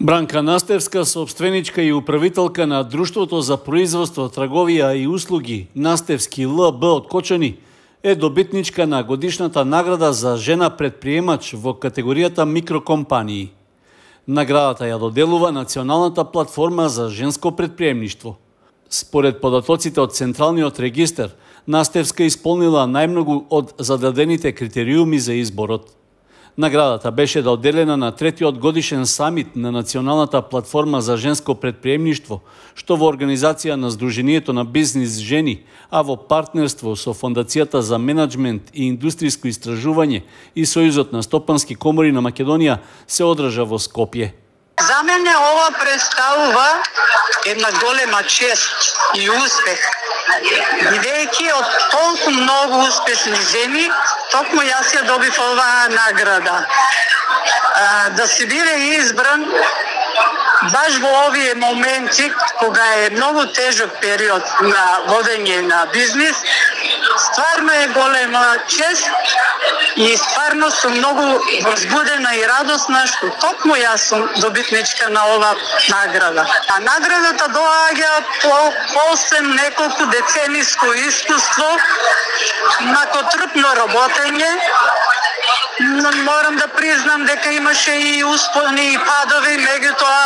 Бранка Настевска, собственичка и управителка на Друштвото за производство, трговија и услуги Настевски ЛБ од Кочани, е добитничка на годишната награда за жена предприемач во категоријата микрокомпании. Наградата ја доделува Националната платформа за женско предприемништво. Според податоците од Централниот регистар, Настевска исполнила најмногу од зададените критериуми за изборот. Наградата беше доделена на третиот годишен самит на Националната платформа за женско предприемништво, што во организација на Сдруженијето на бизнис жени, а во партнерство со Фондацијата за менаџмент и индустријско истражување и Сојузот на стопански комори на Македонија се одржа во Скопје. За мене ова представува една голема чест и успех. Бидејќи од толку многу успешни жени, токму јас ја добив оваа награда. Да се биде избран баш во овие моменти, кога е многу тежок период на водење на бизнис, стварно е голема чест и стварно сум многу возбудена и радосна што токму јас сум добитничка на ова награда. А наградата доаѓа после неколку децениско искуство, након трудно работење. Морам да признам дека имаше и успони и падови, меѓутоа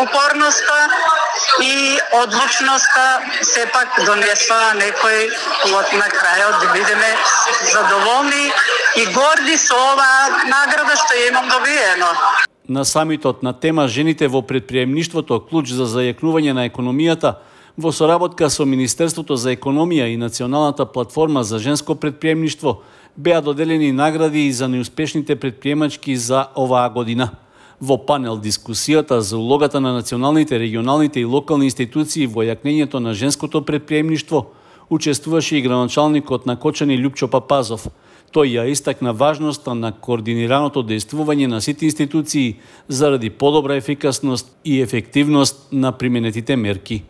упорноста и одлучноста сепак донесува некој плод на крајот, да бидеме задоволни и горди со оваа награда што ја имам добиено. На самитот на тема жените во предприемништвото, клуч за зајакнување на економијата, во соработка со Министерството за економија и Националната платформа за женско предприемништво, беа доделени награди и за неуспешните предприемачки за оваа година. Во панел дискусијата за улогата на националните, регионалните и локални институции во јакнењето на женското предприемништво учествуваше и градоначалникот на Кочани Љупчо Папазов. Тој ја истакна важноста на координираното дејствување на сите институции заради подобра ефикасност и ефективност на применетите мерки.